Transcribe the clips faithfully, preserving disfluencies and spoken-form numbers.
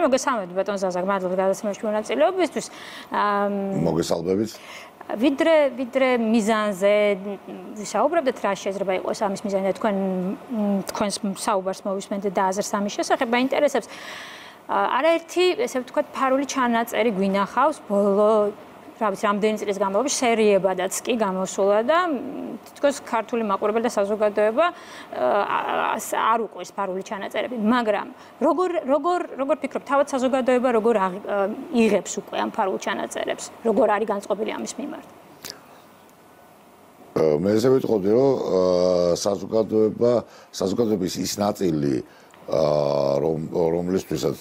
მოგესალმებით ბატონ ზაზა, მადლობა გადაცემაში მონაწილეობისთვის. მოგესალმებით. ვიდრე ვიდრე მიზანზე ვისაუბრებდეთ, რა შეიძლება იყოს ამის მიზანი და თქვენ თქვენს საუბარს მოვისმენთ და აზრს ამის შესახებ მაინტერესებს. არაერთი, ესე ვთქვათ, ფარული ჩანაწერი გვინახავს ბოლო რა ვიცი, რამდენი წლის განმავლობაში სერიებადაც კი გამოსულა და თითქოს ქართული მაყურებელი და საზოგადოება არ უყურს ფარული ჩანაწერები, მაგრამ როგორ როგორ როგორ ფიქრობთ, თავად საზოგადოება როგორ იღებს უკვე ამ ფარულ ჩანაწერებს, როგორ არის განწყობილი ამის მიმართ? მე ესე ვიტყოდი, რომ საზოგადოება, საზოგადოების ის ნაწილი რომ რომლისთვისაც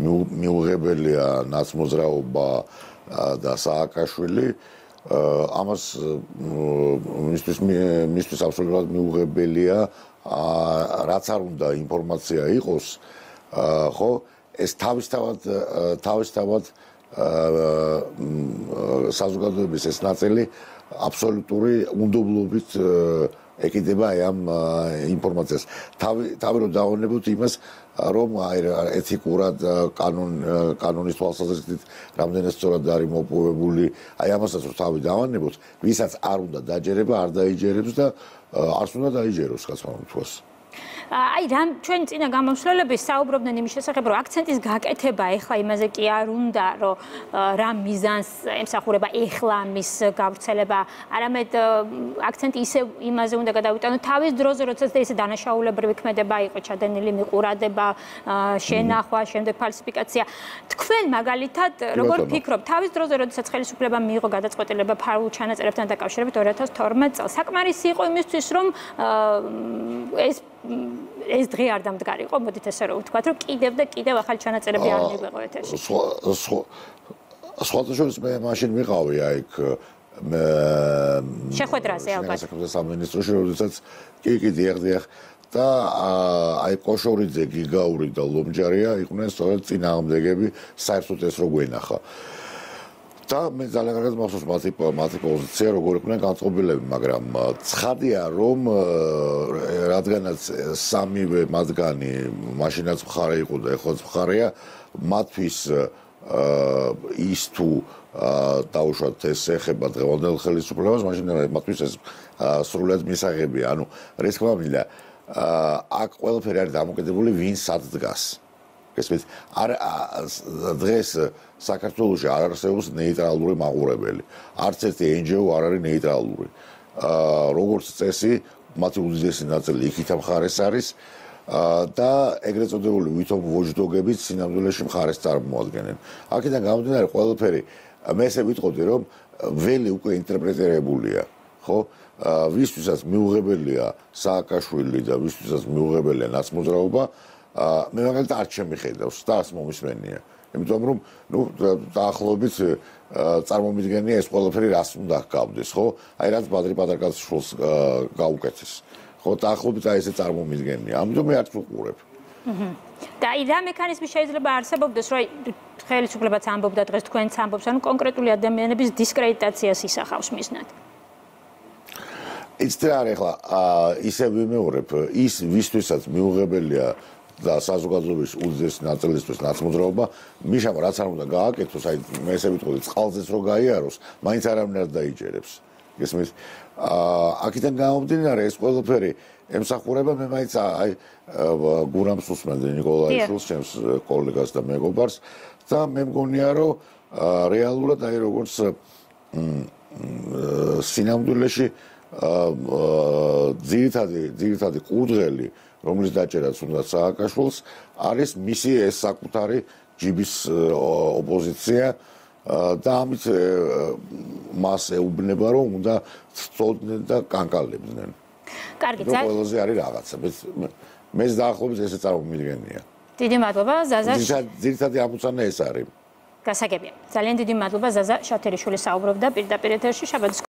მიუღებელია ნაცმოძრაობა და სააკაშვილი ამას მისთვის მისთვის აბსოლუტურად მიუღებელია რაც არ უნდა ინფორმაცია იყოს ხო ეს თავისთავად თავისთავად საზოგადოების ეს ნაწილი აბსოლუტური უნდობლობით ეკიდება ამ ინფორმაციას თავი თავი რომ დავანებოთ იმას რომ აი ეთიკურად კანონ კანონის თვალსაზრისით რამდენად სწორად არის მოპოვებული აი ამასაც რომ თავი დავანებოთ ვისაც არ უნდა დაჯერება არ დაიჯერებს და არც უნდა დაიჯეროს კაცმამთვას აი რამ ჩვენ წინა გამომსვლელების საუბრობდნენ იმის შესახებ რომ აქცენტის გაკეთება ეხლა იმაზე კი არ უნდა რომ რა მიზანს ემსახურება ეხლა ამის გავრცელება არამედ აქცენტი ისე იმაზე უნდა გადავიტანოთ თავის დროზე როდესაც ესე დანაშაულებრივი ქმედება იყო ჩადენილი მიყურადება შენახვა შემდეგ ფალსიფიკაცია თქვენ მაგალითად როგორ ფიქრობთ თავის დროზე როდესაც ხელისუფლებამ მიიღო გადაწყვეტილება ფარულ ჩანაწერებთან დაკავშირებით ორი ათას თორმეტ წელს საკმარისი იყო იმისთვის რომ ეს ეს დღე არ დამდგარიყო, მოდით ესე რომ ვთქვათ, რომ კიდევ და კიდევ ახალი ჩანაწერები არ მიგვეყო ეთერში. სხვათა შორის მე მაშინ ვიყავი აი იქ მე შეხვედრაზე ალბათ. საქართველოს სამინისტროში, როდესაც კი კი დიახ დიახ და აი კოშორიძე, გიგაური და ლომჯარია იყვნენ სწორედ წინააღმდეგები საერთოდ ეს რო გვენახა. და მე ძალიან კარგად მახსოვს მათი მათი პოზიცია როგორ იყვნენ განწყობილები, მაგრამ ცხადია რომ რადგანაც სამივე მათგანი მაშინაც მხარე იყო და ეხლაც მხარეა, მათთვის ის თუ დაუშვათ ეს ეხება დღევანდელ ხელისუფლებას, მაშინ მათთვის ეს სრულად მისაღებია. ანუ რა თქმა უნდა, აქ ყველაფერი არის დამოკიდებული ვინ სად დგას. ესმის არ დღეს საქართველოში არ არსებობს ნეიტრალური მაყურებელი. არც ერთი εν ჯი ო არ არის ნეიტრალური. როგორც წესი, მათი უდიდესი ნაწილი იქით მხარეს არის და ეგრეთ წოდებული ვითომ ვოჯდოგებით სინამდვილეში მხარეს წარმოადგენენ. აქედან გამომდინარე ყველაფერი მე ესე ვიტყოდი რომ ველი უკვე ინტერპრეტირებულია, ხო? ვისთვისაც მიუღებელია სააკაშვილი და ვისთვისაც მიუღებელია ნაცმოძრაობა მე მაგალითად არ შემიხედავს და არც მომისმენია. იმიტომ რომ ნუ დაახლოებით წარმომიდგენია ეს ყველაფერი რას უნდა ჰგავდეს, ხო? აი რაც ბადრი პატარკაცშვილს გაუკეთეს. ხო, დაახლოებით აი ესე წარმომიდგენია. ამიტომ მე არც ვუყურებ. და აი რა მექანიზმი შეიძლება არსებობდეს, რომ ხელისუფლებაც ამბობდა დღეს თქვენც ამბობს, ანუ კონკრეტული ადამიანების დისკრედიტაციას ისახავს მიზნად. იცით რა არის ახლა ისე ვიმეორებ, ის ვისთვისაც მიუღებელია და საზოგადოების უდიდესი ნაწილისთვის ნაცმოძრაობა, მიშამ რაც არ უნდა გააკეთოს, აი მე ესე ვიტყოდი, წყალზეც რო გაიაროს, მაინც არავინ არ დაიჯერებს. გესმის? აქედან გამომდინარე ეს ყველაფერი ემსახურება მე მაინც აი გურამს უსმენდი ნიკოლაიშვილს, ჩემს კოლეგას და მეგობარს და მე მგონია რომ რეალურად აი როგორც სინამდვილეში ძირითადი ძირითადი ყურდღელი რომლის დაჭერაც უნდა სააკაშვილს არის მისი ეს საკუთარი ჯიბის ოპოზიცია და ამით მას ეუბნება რომ უნდა სწორდნენ და კანკალებდნენ. კარგი, ძალიან ყველაზე არის რაღაცა. მეც დაახლოებით ესე წარმომიდგენია. დიდი მადლობა ზაზა. ძირითადი ამოცანა ეს არის. გასაგებია. ძალიან დიდი მადლობა ზაზა შათერიშვილი საუბრობდა პირდაპირ ეთერში. შაბათს